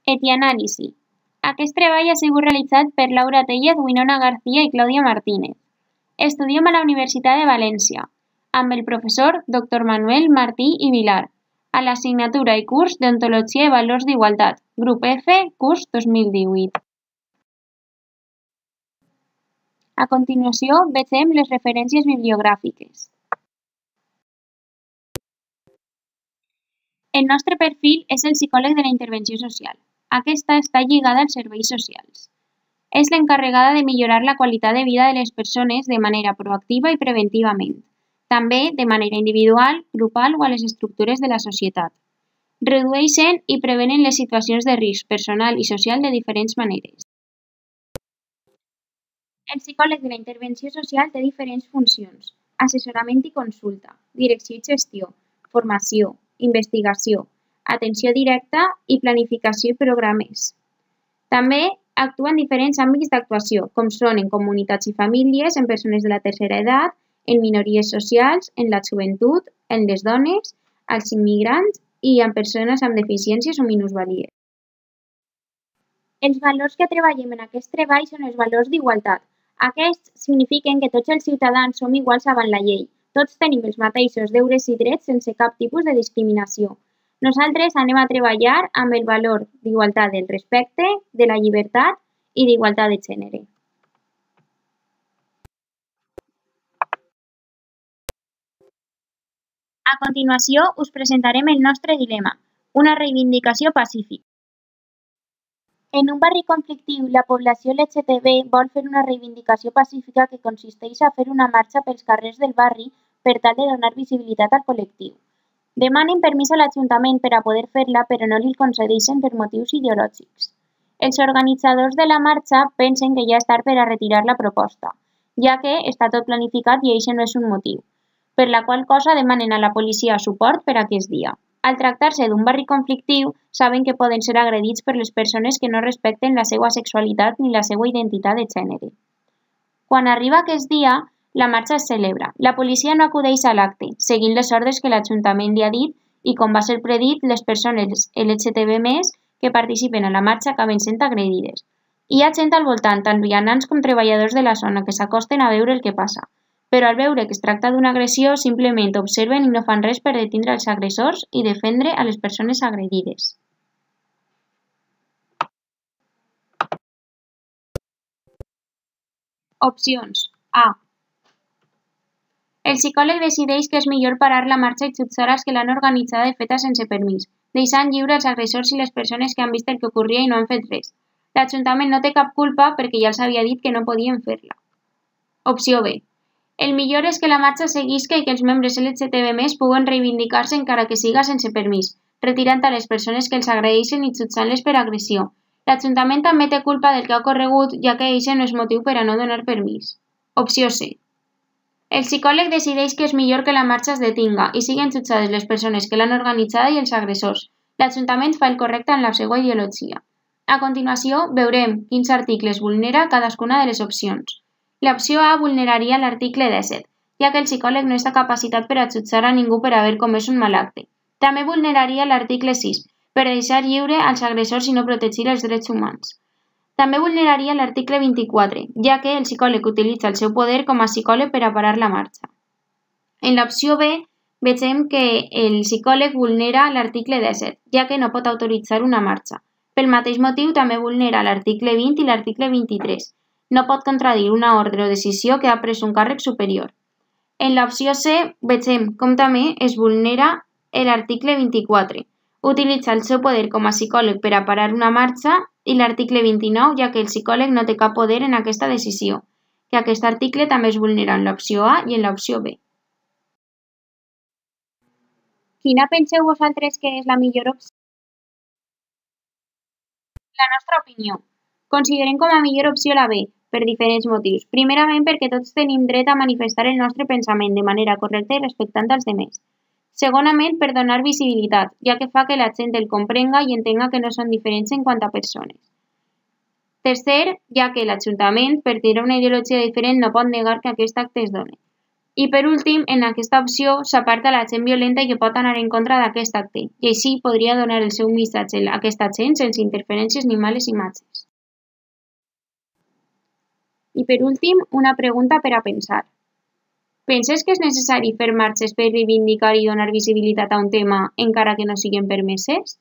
Etianàlisi. Aquest treball ha sigut realitzat per Laura Tellez, Winona García i Clàudia Martínez. Estudiem a la Universitat de València, amb el professor Dr. Manuel Martí i Vilar, a l'assignatura i curs d'Ontologia i Valors d'Igualtat, grup F, curs 2018. A continuació, vegem les referències bibliogràfiques. El nostre perfil és el psicòleg de la intervenció social. Aquesta està lligada als serveis socials. És l'encarregada de millorar la qualitat de vida de les persones de manera proactiva i preventivament, també de manera individual, grupal o a les estructures de la societat. Redueixen i prevenen les situacions de risc personal i social de diferents maneres. El psicòleg de la intervenció social té diferents funcions: assessorament i consulta, direcció i gestió, formació, investigació, atenció directa i planificació i programes. També actua en diferents àmbits d'actuació, com són en comunitats i famílies, en persones de la tercera edat, en minories socials, en la joventut, en les dones, als immigrants i en persones amb deficiències o minusvàlies. Els valors que treballem en aquest treball són els valors d'igualtat. Aquests signifiquen que tots els ciutadans som iguals davant la llei. Tots tenim els mateixos deures i drets sense cap tipus de discriminació. Nosaltres anem a treballar amb el valor d'igualtat del respecte, de la llibertat i d'igualtat de gènere. A continuació, us presentarem el nostre dilema, una reivindicació pacífica. En un barri conflictiu, la població LGTB vol fer una reivindicació pacífica que consisteix a fer una marxa pels carrers del barri per tal de donar visibilitat al col·lectiu. Demanen permís a l'Ajuntament per a poder fer-la, però no li concedeixen per motius ideològics. Els organitzadors de la marxa pensen que ja és tard per a retirar la proposta, ja que està tot planificat i això no és un motiu, per la qual cosa demanen a la policia suport per a aquest dia. Al tractar-se d'un barri conflictiu, saben que poden ser agredits per les persones que no respecten la seva sexualitat ni la seva identitat de gènere. Quan arriba aquest dia, la marxa es celebra. La policia no acudeix a l'acte, seguint les ordres que l'Ajuntament li ha dit i, com va ser predit, les persones LGTB+ que participen a la marxa acaben sent agredides. Hi ha gent al voltant, tant vianants com treballadors de la zona, que s'acosten a veure el que passa. Però al veure que es tracta d'una agressió, simplement observen i no fan res per detenir els agressors i defendre a les persones agredides. Opcions. A. El psicòleg decideix que és millor parar la marxa i jutjar els que l'han organitzada i feta sense permís, deixant lliure els agressors i les persones que han vist el que ocorria i no han fet res. L'Ajuntament no té cap culpa perquè ja els havia dit que no podien fer-la. Opció B. El millor és que la marxa seguisca i que els membres LGTB+ puguen reivindicar-se encara que siga sense permís, retirant a les persones que els agredeixen i jutjant-les per agressió. L'Ajuntament també té culpa del que ha ocorregut, ja que això no és motiu per a no donar permís. Opció C. El psicòleg decideix que és millor que la marxa es detinga i siguin jutjades les persones que l'han organitzada i els agressors. L'Ajuntament fa el correcte en la seva ideologia. A continuació, veurem quins articles vulnera cadascuna de les opcions. L'opció A vulneraria l'article 17, ja que el psicòleg no està capacitat per a jutjar a ningú per haver comès un mal acte. També vulneraria l'article 6, per deixar lliure als agressors i no protegir els drets humans. També vulneraria l'article 24, ja que el psicòleg utilitza el seu poder com a psicòleg per a parar la marxa. En l'opció B, vegem que el psicòleg vulnera l'article 17, ja que no pot autoritzar una marxa. Pel mateix motiu, també vulnera l'article 20 i l'article 23. No pot contradir una ordre o decisió que ha pres un càrrec superior. En l'opció C, vegem com també es vulnera l'article 24. Utilitza el seu poder com a psicòleg per a parar una marxa i l'article 29, ja que el psicòleg no té cap poder en aquesta decisió, que aquest article també es vulnera en l'opció A i en l'opció B. Quina penseu vosaltres que és la millor opció? La nostra opinió. Considerem com a millor opció la B, per diferents motius. Primerament, perquè tots tenim dret a manifestar el nostre pensament de manera correcta i respectant als demés. Segonament, per donar visibilitat, ja que fa que la gent el comprenga i entenga que no són diferents en quant a persones. Tercer, ja que l'Ajuntament, per tenir una ideologia diferent, no pot negar que aquest acte es doni. I per últim, en aquesta opció s'aparta la gent violenta i que pot anar en contra d'aquest acte, i així podria donar el seu missatge a aquesta gent sense interferències ni males imatges. I per últim, una pregunta per a pensar. Penses que és necessari fer marxes per reivindicar i donar visibilitat a un tema encara que no siguin permeses?